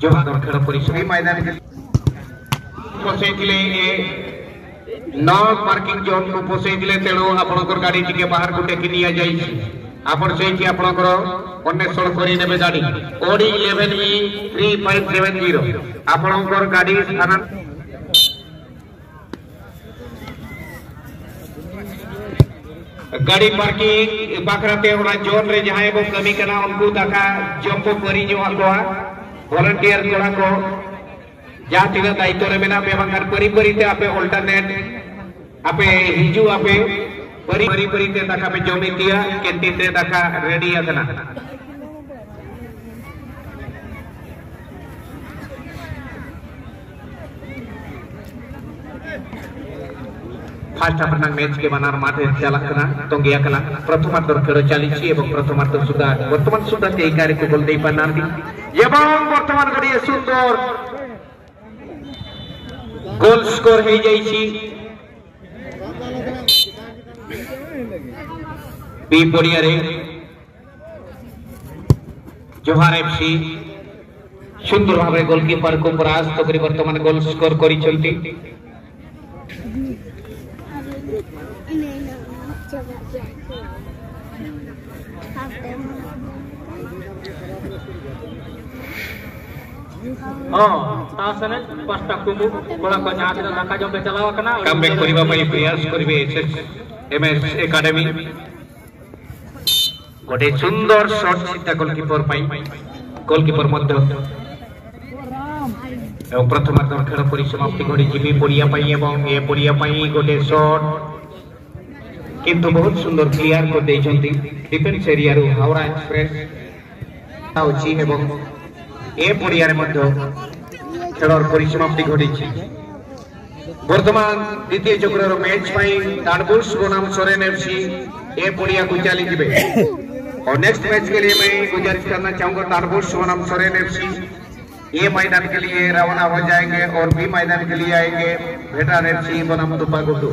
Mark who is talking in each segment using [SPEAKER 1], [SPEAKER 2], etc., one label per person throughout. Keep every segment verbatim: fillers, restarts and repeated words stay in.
[SPEAKER 1] ଜୋହାର ଖେଳ ପରିସର ମଇଦାନ ପଶେଇଥିଲେ ଏ ନ ପାର୍କିଂ ଜୋନ୍ କୁ ପଶେଇଥିଲେ। ତେଣୁ ଆପଣଙ୍କର ଗାଡି ଟିକେ ବାହାରକୁ ଟେକି ନିଆଯାଇଛି। ଆପଣ ସେଇଠି ଆପଣଙ୍କର ଅନ୍ୱେଷଣ କରିନେବେ ଗାଡି। O D eleven E three five seven zero ଆପଣଙ୍କର ଗାଡି ସ୍ଥାନା गाड़ी पार्किंग बाखराते ओना जोन रे जहां बो कमी कना उनको दाका जम को करी जो आकोआ वॉलंटियर कोड़ा को जहां तिना दायित्व रे मेना पे बांगार परी परी ते आपे अल्टरनेट आपे हिजू आपे परी परी परी ते दाका पे जमितिया कैंटीन रे दाका रेडी आकना। फास्ट हाफ मैच के बानार माठे चालक तंगिया प्रथमार्धर खेल चली এবং प्रथमार्ध सुद्धा बर्तमान सुद्धा केही कार्य गोल देई पारनांती এবং बर्तमान गोटे सुंदर गोल स्कोर हो जाइछि। बी पड़िया जोहार एफसी सुंदर भाव गोलकीपर को परास्त करी बर्तमान गोल स्कोर करिसेंती। कमबैक करबा पई प्रयास करबे एसएसएमएस एकाडेमी। गोटे सुंदर शॉट सीधा गोलकीपर पाई गोलकीपर मध्य এবং प्रथमार्ध खेल परिसमाप्ति घटी बी पड़िया पाई এবং ए पड़िया पाई गोटे शॉट किंतु बहुत सुंदर क्लियर कर देइछंती डिफेंस एरिया रु हावड़ा एक्सप्रेस आउची এবং ए पड़िया मध्य खेलर परिसमाप्ति घटिछि। बर्तमान द्वितीय चक्रर मैच पाई ताड़बुस बनाम सोरेन एफसी ए पड़िया को चली जिबे और नेक्स्ट मैच के लिए मैं गुजारिश करना चाहूंगा ताड़बुस बनाम सोरेन एफसी ए मैदान के लिए रवाना हो जाएंगे और बी मैदान के लिए आएंगे भेटान एफसी बनाम दुपागुटू।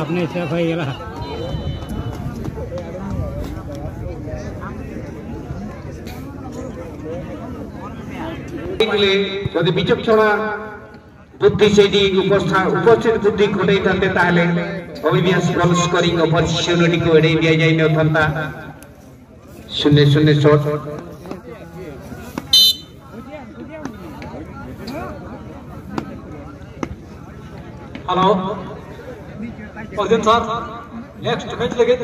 [SPEAKER 2] अपने से भाई गला
[SPEAKER 1] যদি বিচক্ষণা बुद्धि सेठी उपस्थित बुद्धि खटाई थाते ताहले अविनाश गोल स्कोरिंग अपॉर्चुनिटी को एड़े दिया जाई नथांता। शून्य शून्य shot
[SPEAKER 3] hello Arjun sir next match लगे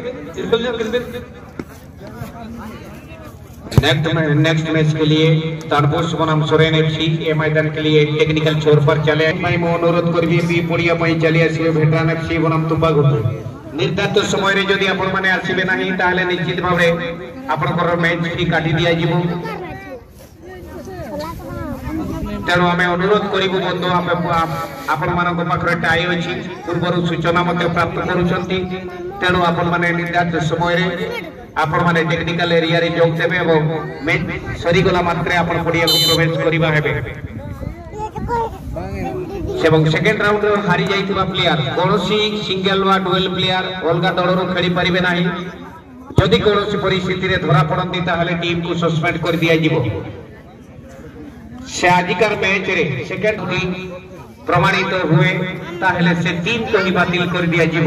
[SPEAKER 1] नेक्स्ट नेक्स्ट मैच के लिए ताड़बुस बनाम सोरेन एफसी ए मैदान के लिए टेक्निकल छोर पर चले मैं अनुरोध करबी बी पड़िया पई चली आसीबे भेटरान एफसी बनाम तुपागुटू। निर्धारित समय रे जदि आपण माने आसीबे नाही ताहले निश्चित भावे आपणकर मैच फी काटी दिया जिवो। तेणु आमे अनुरोध करिबु बंधु आपण मानक पाखरे टाई अछि पूर्वर सूचना मध्य प्राप्त करुछंती। तेणु आपण माने निर्धारित समय रे आपण माने टेक्निकल एरिया रे जोग देबे এবং मैच सरीगला मात्रे आपण पड़िया को प्रवेश करिबा हेबे। এবং सेकंड राउंड रे हारी जाइतुबा प्लेयर कोनोसी सिंगल वा डुएल प्लेयर अलगा दलरु खेली परिबे नाही। जदि कोनोसी परिस्थिति रे धरा पड़ंती ताहले टीम को सस्पेंड कर दिया जिवो। से आजिकार मैच रे सेकंड टीम प्रमाणित हुए। ତାହେଲେ ସେ ଟିମ୍କୁ ହିଁ ବାତିଲ କରିଦିଆଯିବ।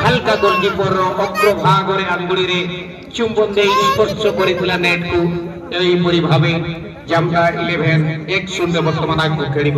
[SPEAKER 1] ହାଲକା ଗୋଲକିପର ଅଗ୍ରଭାଗରେ ଆଙ୍ଗୁଳିରେ ଚୁମ୍ବନ ଦେଇ ସ୍ପର୍ଶ କରିଥିଲା ନେଟ୍କୁ। ଏହିପରି ଭାବେ ଜାମଦା ଇଲେଭେନ ଏକ ଶୂନ୍ୟ ବର୍ତ୍ତମାନ ଆଗକୁ ଖେଳିବ।